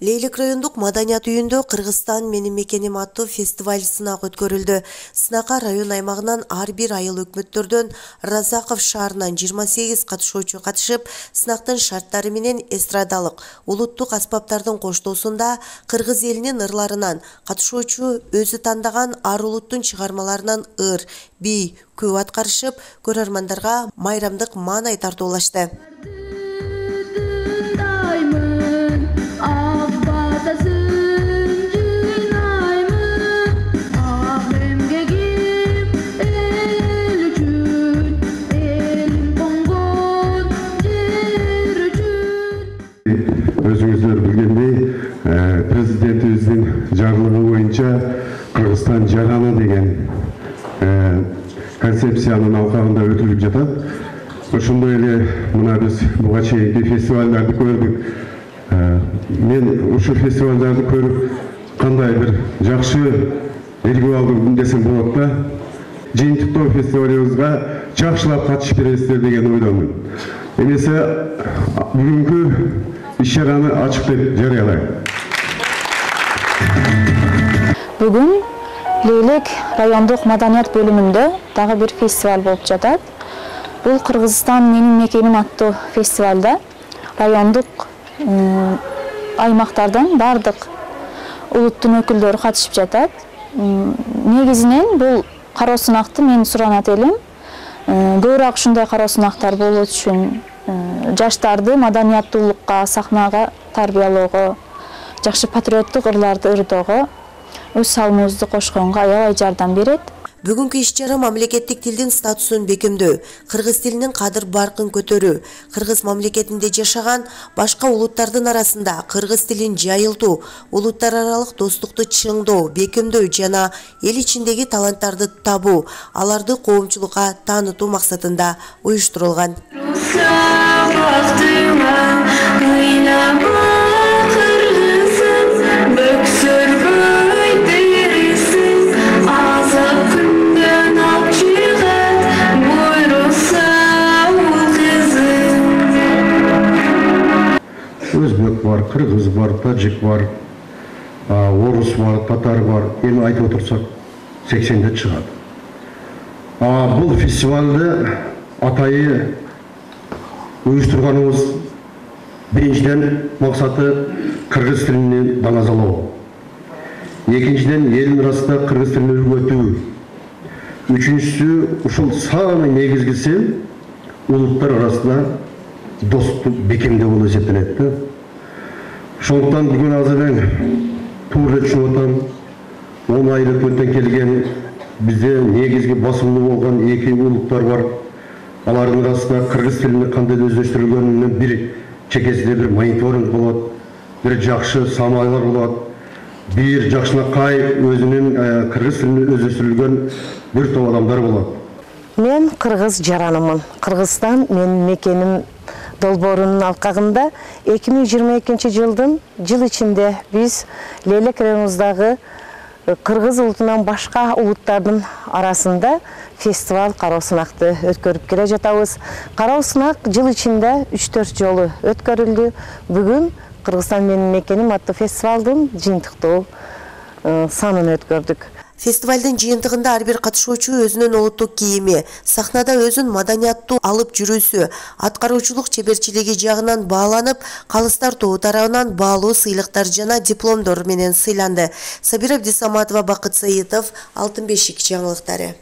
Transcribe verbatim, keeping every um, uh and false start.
Лейлек райондук маданият үйүндө Кыргызстан менин мекеним аттуу фестиваль сынак өткөрүлдү. Сынакка район аймагынан ар бир айыл өкмөттөрдөн Разаков шаарынан жыйырма сегиз катышуучу катышып, сынактын шарттары менен эстрадалык, улуттук аспаптардын коштоосунда кыргыз элинин ырларынан катышуучу өзү тандаган ар улуттун чыгармаларынан ыр, бий, күү аткарышып, көрөрмандарга майрамдык маанай тартуулашты. Өзүңүздөр билгендей, президентибиздин жарлыгы боюнча Кыргызстан жараны деген концепциянын алкагында өтүлүп жатат. Ошондой эле мына биз буга чейинки фестивалдарды көрдүк. Мен ушул фестивалдарды көрүп кандай бир жакшы элге алдым десем болот да. Жыйынтыктоо фестивалыбызга жакшылап катышып бересиздер деген ойдомун. Эмесе бүгүнкү иш-чараны ачык деп жарыялайм. Бүгүн Лейлек райондук маданият бөлүмүндө дагы бир фестиваль болуп жатат. Бул Кыргызстан менин мекеним аттуу фестивалда райондук аймактардан бардык улуттун өкүлдөрү катышып жатат. Негизинен бул кароо сынакты мен суранат элем. Көбүрөөк ушундай кароо сынактар болуу үчүн жаштарды маданияттуулукка, сахнага тарбиялоого, жакшы патриоттук ырларды ырдоого өз салымыбызды кошконго аябай жардам берет. Бүгүнкү иш-чара мамлекеттик тилдин статусун бекемдөө, кыргыз тилинин кадыр баркын көтөрүү, кыргыз мамлекетинде жашаган башка улуттардын арасында кыргыз тилин жайылтуу, улуттар аралык достукту чыңдоо, бекемдөө жана эл ичиндеги таланттарды табуу, аларды коомчулукка таанытуу максатында уюштурулган. Өзбек бар, кыргыз бар, таджик бар, орус бар, татар бар. Эми айтып отурсак сексенде чыгат. Бул фестивалды атайы уюштурганыбыз биринчиден максаты кыргыз тилин даңазалоо. Экинчиден элдин арасында кыргыз тилин өргөтүү. Үчүнчүсү ушул самый негизгиси улуттар арасында достукту бекемдөө болуп эсептелет. Ошондуктан бүгүн азыр мен туура түшүнүп атам. он айлык өттөн келген бизде негизги басымдуу болгон эки улуттар бар. Алардын арасында кыргыз тилини кандай өздөштүрүлгөнүнүн бир чекесинде бир мониторинг болот, бир жакшы самайлар болот, бир жакшынакай өзүнүн кыргыз тилини өздөштүрүлгөн бир топ адамдар болот. Мен кыргыз жаранымын. Кыргызстан менин мекеним долбоорунун алкагында эки миң жыйырма экинчи жылдын жыл ичинде биз Лейлек районубуздагы кыргыз улутунан башка улуттардын арасында фестиваль кароо сынакты өткөрүп келе жатабыз. Кароо сынак жыл ичинде үч төрт жолу өткөрүлдү. Бүгүн Кыргызстан менин мекеним аттуу фестивалдын жыйынтыктоо санын өткөрдүк. Фестивалдын жыйынтыгында ар бир катышуучу өзүнүн улуттук кийими, сахнада өзүн маданияттуу алып жүрүүсү, аткаруучулук чеберчилиги жагынан бааланып, калыстар тобу тарабынан баалуу сыйлыктар жана дипломдор менен сыйланды. Сабира Абдисаматова, Бакыт Саитов, Алтын бешик жаңылыктары.